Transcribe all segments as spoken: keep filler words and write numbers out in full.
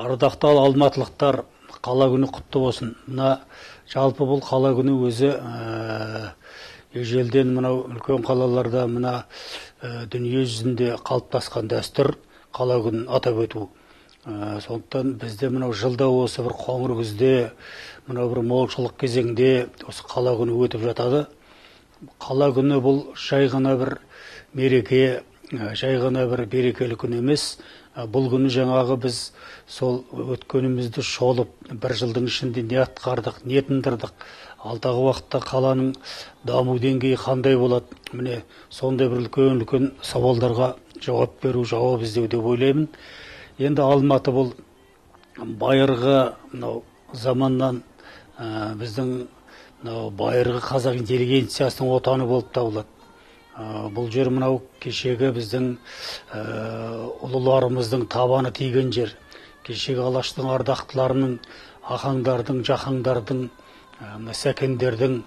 Ардактуу алматылыктар, кала күнү куттуу болсун. Мына жалпы бул кала күнү өзү эжелден мынау үлкөн калаларда мына дүнүйө жүзүндө калыптаскан дәстүр кала күнүн атап өтүү. Сондуктан бизде мынау жылда осы бир коңур күздө, мынау бир молчулук кезеңде осы кала күнү өтүп жатады. Кала күнү бул жай гана бир мереке, жай гана бир берекелик күн эмес. Бул күнү жаңагы биз сол өткөнүмүздү шолуп, бир жылдын ичинде не аткардык, не тындырдык, алдагы убакытта каланын дамуу деңгээи кандай болот? Міне сондай бир үлкөн-үлкөн сабалдарга жооп берүү, жооп издөө деп ойлоймун. Енді Алматы бұл байырғы заманнан біздің байырғы қазақ интеллигенциясының отаны болып табылады. Бұл жер мынау кешегі біздің ұлыларымыздың табаны тиген жер. Кешегі алаштың ардақтыларының, ахаңдардың, жахаңдардың, сәкендердің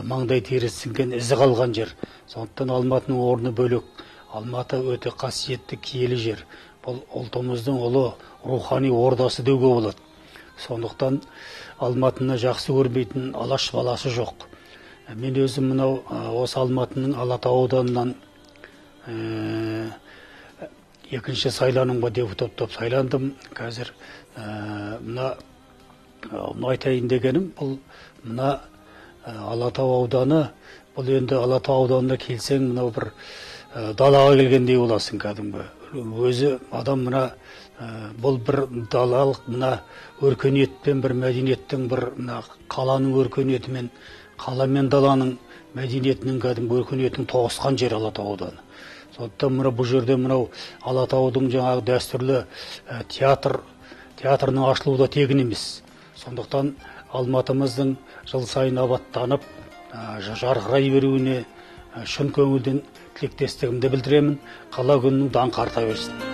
маңдай тері сіңген ізі қалған жер. Сондықтан Алматының орны бөлек. Алматы өте қасиетті киелі жер. Бұл ұлтымыздың ұлы рухани ордасы деуге болады. Сондықтан Алматыны жақсы көрмейтін алаш баласы жоқ. Мен өзім мынау осы Алматының Алатау ауданынан екінші сайлануға депутаттап сайландым. Қазір мына айтайын дегенім, бұл мына Алатау ауданы, бұл енді Алатау ауданына келсең, мынау бір далаға келгендей боласың кәдімгі. Өзі адам мына бұл бір далалық мына өркениетпен, бір мәдениеттің, бір қаланың өркениетімен, қала мен даланың мәдениетінің кәдімгі өркениетінің тоғысқан жер Алатау ауданы. Сондықтан мына бұл жерде мынау Алатаудың жаңағы дәстүрлі театр, театрының ашылуы да тегін емес. Сондықтан Алматымыздың жыл сайын абаттанып, жарқырай беруіне шын көңілден тілектестігімді білдіремін. Қала күнінің даңқы арта берсін.